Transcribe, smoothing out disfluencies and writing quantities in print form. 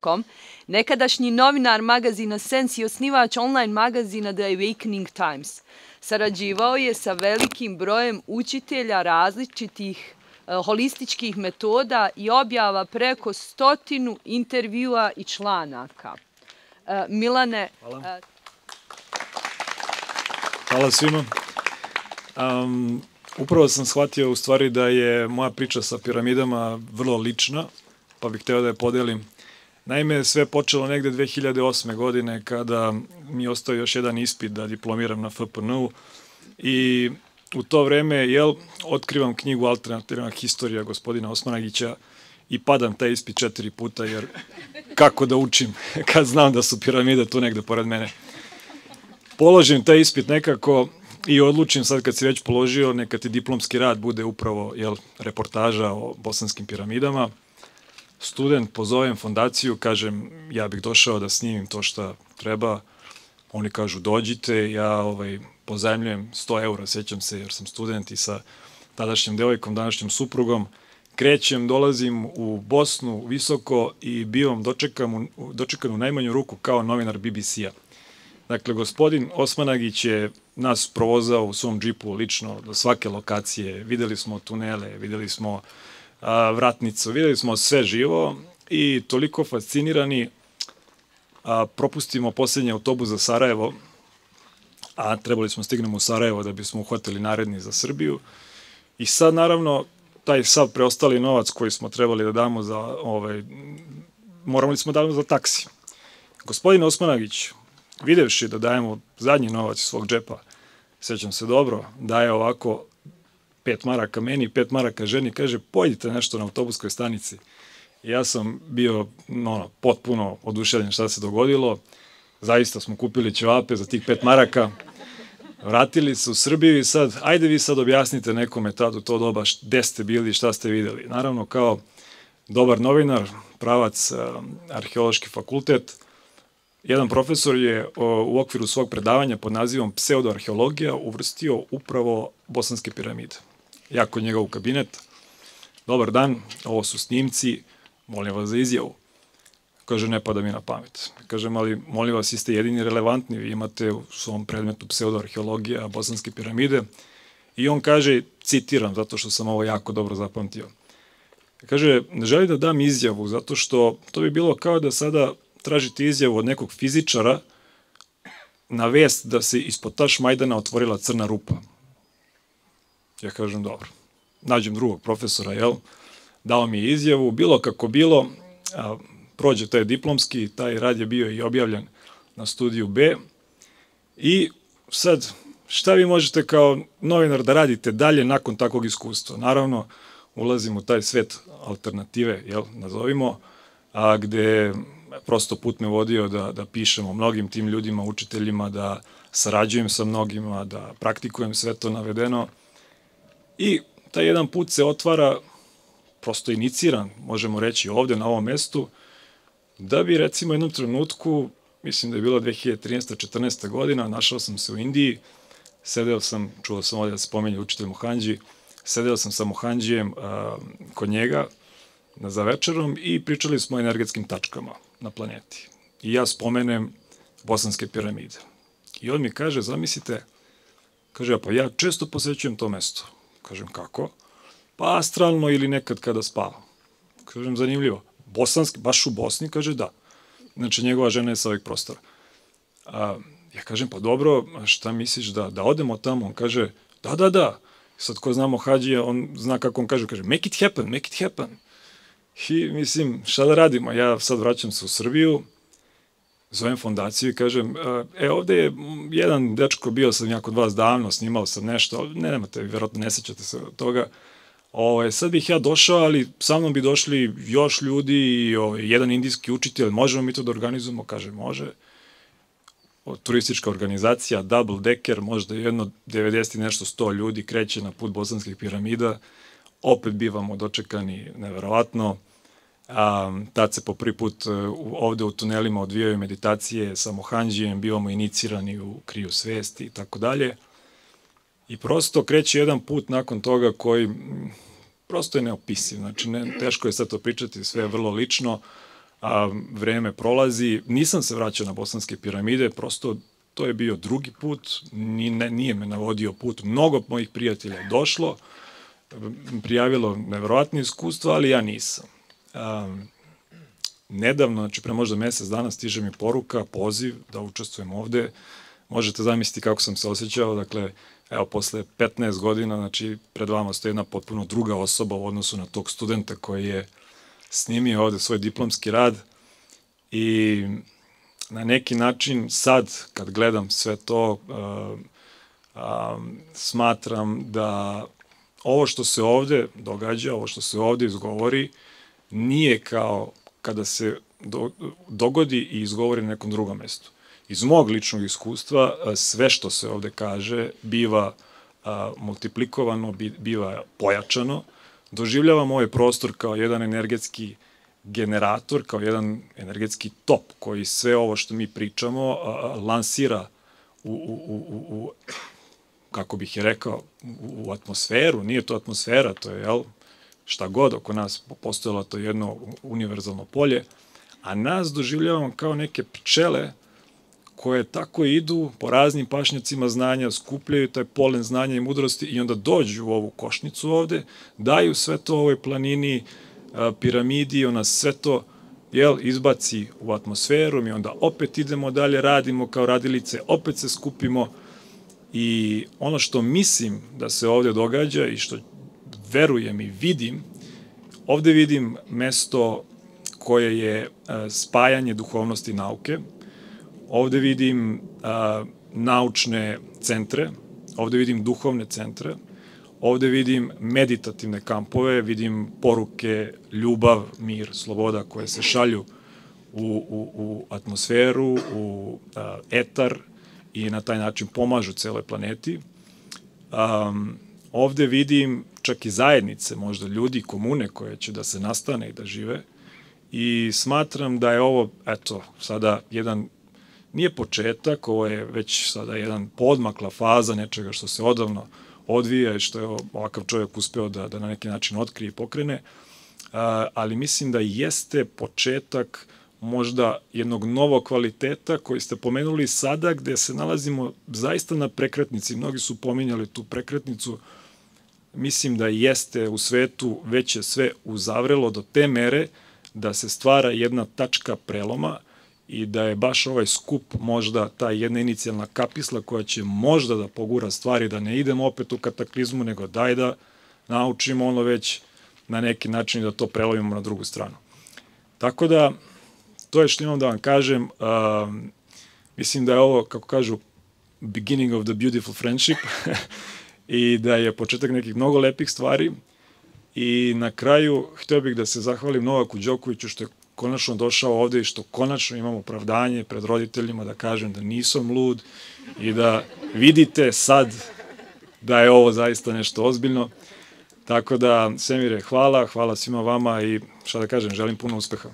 Sense.com, nekadašnji novinar magazina Sense i osnivač online magazina The Awakening Times. Sarađivao je sa velikim brojem učitelja različitih holističkih metoda i objava preko 100 intervjua i članaka. Milane... Hvala svima. Upravo sam shvatio u stvari da je moja priča sa piramidama vrlo lična, pa bih hteo da je podelim. Naime, sve je počelo negde 2008. godine kada mi je ostao još jedan ispit da diplomiram na FPN-u i u to vreme, otkrivam knjigu Alternativna historija gospodina Osmanagića i padam taj ispit 4 puta, jer kako da učim kad znam da su piramide tu negde pored mene. Položim taj ispit nekako i odlučim sad kad si već položio, neka ti diplomski rad bude upravo reportaža o bosanskim piramidama. Student, pozovem fondaciju, kažem ja bih došao da snimim to šta treba. Oni kažu dođite, ja pozajmljujem 100 eura, sećam se jer sam student i sa tadašnjom devojkom, današnjom suprugom. Krećem, dolazim u Bosnu visoko i bivam dočekan u najmanju ruku kao novinar BBC-a. Dakle, gospodin Osmanagić je nas provozao u svom džipu lično do svake lokacije. Videli smo tunele, videli smo vratnicu, videli smo sve živo i toliko fascinirani propustimo poslednji autobus za Sarajevo, a trebali smo stignemo u Sarajevo da bismo uhvatili naredni za Srbiju. I sad, naravno, taj sav preostali novac koji smo trebali da damo morali smo da damo za taksi. Gospodin Osmanagić, videvši da dajemo zadnji novac iz svog džepa, sećam se dobro, daje ovako 5 maraka meni, 5 maraka ženi, kaže, pojdite nešto na autobuskoj stanici. I ja sam bio potpuno oduševljen šta se dogodilo. Zaista smo kupili ćevape za tih 5 maraka, vratili se u Srbiju i sad, ajde vi sad objasnite nekome tad u to doba gde ste bili, šta ste videli. Naravno, kao dobar novinar, pravac arheološki fakultet, jedan profesor je u okviru svog predavanja pod nazivom pseudoarheologija uvrstio upravo bosanske piramide. Ja kod njega u kabinet, dobar dan, ovo su snimci, molim vas za izjavu. Kaže, ne pada mi na pamet. Kažem, ali molim vas, vi ste jedini relevantni, vi imate u svom predmetu pseudoarheologija, bosanske piramide. I on kaže, citiram, zato što sam ovo jako dobro zapamtio. Kaže, ne želim da dam izjavu, zato što to bi bilo kao da sada tražite izjavu od nekog fizičara na vest da se ispod Tašmajdana otvorila crna rupa. Ja kažem, dobro. Nađem drugog profesora, dao mi je izjavu, bilo kako bilo, prođe taj diplomski, taj rad je bio i objavljen na Studiju B. I sad, šta vi možete kao novinar da radite dalje nakon takvog iskustva? Naravno, ulazim u taj svet alternative, nazovimo, gde prosto put me vodio da pišem o mnogim tim ljudima, učiteljima, da sarađujem sa mnogima, da praktikujem sve to navedeno. I taj jedan put se otvara, prosto iniciran, možemo reći ovde na ovom mestu, da bi recimo u jednom trenutku, mislim da je bilo 2013-14. godina, našao sam se u Indiji, sedeo sam, čuo sam ovde da se pomenje učitelj Mohandži, sedeo sam sa Mohandžijem kod njega za večerom i pričali smo o energetskim tačkama na planeti. I ja spomenem bosanske piramide. I on mi kaže, zamislite, kaže, pa ja često posećujem to mesto. Kažem, kako? Pa astralno ili nekad kada spavam. Kažem, zanimljivo. Bosanski, baš u Bosni? Kaže, da. Znači, njegova žena je sa ovih prostora. Ja kažem, pa dobro, šta misliš da odemo tamo? On kaže, da. Sad ko znamo Hadžija, on zna kako on kaže, make it happen. I mislim, šta da radimo? Ja sad vraćam se u Srbiju, zovem fondaciju i kažem, ovde je jedan dečko, bio sam ja kod vas davno, snimao sam nešto, nemate, verovatno ne sećate se od toga, sad bih ja došao, ali sa mnom bi došli još ljudi i jedan indijski učitelj, možemo mi to da organizujemo? Kaže, može. Turistička organizacija, double decker, možda jedno 90 i nešto 100 ljudi kreće na put bosanskih piramida, opet bivamo dočekani neverovatno. Tad se po prvi put ovde u tunelima odvijaju meditacije sa Mohandžijem, bivamo inicirani u kriju svesti i tako dalje. I prosto kreće jedan put nakon toga koji prosto je neopisiv. Znači, teško je sad to pričati, sve je vrlo lično, a vreme prolazi. Nisam se vraćao na Bosanske piramide, prosto to je bio drugi put, nije me navodio put. Mnogo mojih prijatelja je došlo, prijavilo nevjerovatne iskustva, ali ja nisam. Nedavno, znači pre možda mesec dana, stiže mi poruka, poziv da učestvujem ovde. Možete zamisliti kako sam se osjećao, dakle, evo, posle 15 godina, znači, pred vama stoji jedna potpuno druga osoba u odnosu na tog studenta koji je snimio ovde svoj diplomski rad i na neki način sad, kad gledam sve to, smatram da ovo što se ovde događa, ovo što se ovde izgovori, nije kao kada se dogodi i izgovori na nekom drugom mestu. Iz mog ličnog iskustva, sve što se ovde kaže biva multiplikovano, biva pojačano. Doživljavam ovaj prostor kao jedan energetski generator, kao jedan energetski top koji sve ovo što mi pričamo lansira kako bih je rekao, u atmosferu. Nije to atmosfera, to je, šta god oko nas postojalo, to jedno univerzalno polje, a nas doživljavamo kao neke pčele koje tako idu po raznim pašnjacima znanja, skupljaju taj polen znanja i mudrosti i onda dođu u ovu košnicu ovde, daju sve to ovoj planini, piramidi, ona sve to izbaci u atmosferu, mi onda opet idemo dalje, radimo kao radilice, opet se skupimo i ono što mislim da se ovde događa i što verujem i vidim, ovde vidim mesto koje je spajanje duhovnosti i nauke, ovde vidim naučne centre, ovde vidim duhovne centre, ovde vidim meditativne kampove, vidim poruke, ljubav, mir, sloboda koje se šalju u atmosferu, u etar i na taj način pomažu celoj planeti. Ovde vidim čak i zajednice, možda ljudi, komune koje će da se nastane i da žive i smatram da je ovo, eto, sada jedan, nije početak, ovo je već sada jedan podmakla faza nečega što se odavno odvija i što je ovakav čovjek uspeo da na neki način otkrije i pokrene, ali mislim da jeste početak možda jednog novog kvaliteta koji ste pomenuli sada gde se nalazimo zaista na prekretnici. Mnogi su pominjali tu prekretnicu. Mislim da jeste u svetu već je sve uzavrelo do te mere da se stvara jedna tačka preloma i da je baš ovaj skup možda ta jedna inicijalna kapisla koja će možda da pogura stvari, da ne idemo opet u kataklizmu, nego daj da naučimo ono već na neki način da to prelomimo na drugu stranu. Tako da, to je što imam da vam kažem. Mislim da je ovo, kako kažu, beginning of the beautiful friendship i da je početak nekih mnogo lepih stvari. I na kraju, hteo bih da se zahvalim Novaku Đokoviću što je konačno došao ovde i što konačno imam opravdanje pred roditeljima da kažem da nisam lud i da vidite sad da je ovo zaista nešto ozbiljno. Tako da, Semire, hvala svima vama i šta da kažem, želim puno uspeha.